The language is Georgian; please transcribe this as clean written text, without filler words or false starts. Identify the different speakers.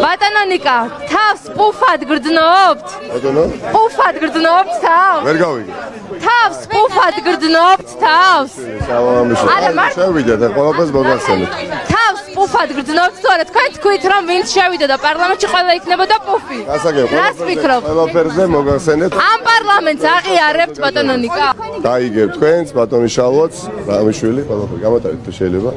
Speaker 1: ბატონო ნიკა, თავს პუფად გრძნობთ?
Speaker 2: ბატონო?
Speaker 1: პუფად გრძნობთ თავს?
Speaker 2: ვერ გავიგე.
Speaker 1: თავს პუფად გრძნობთ თავს? არა,
Speaker 2: შევიდეთ, ყველაფერს მოგახსენეთ.
Speaker 1: თავს პუფად გრძნობთ, თორე თქვენ თქვით რომ ვინც შევიდა და პარლამენტში ყველა იქნებოდა პუფი. რას ფიქრობთ?
Speaker 2: ყველაფერზე მოგახსენეთ.
Speaker 1: ამ პარლამენტს აღიარებთ ბატონო ნიკა?
Speaker 2: დაიგებ თქვენს, ბატონი შალვაც, რამიშვილი, ყველაფერი გამოტარეთ თუ შეიძლება.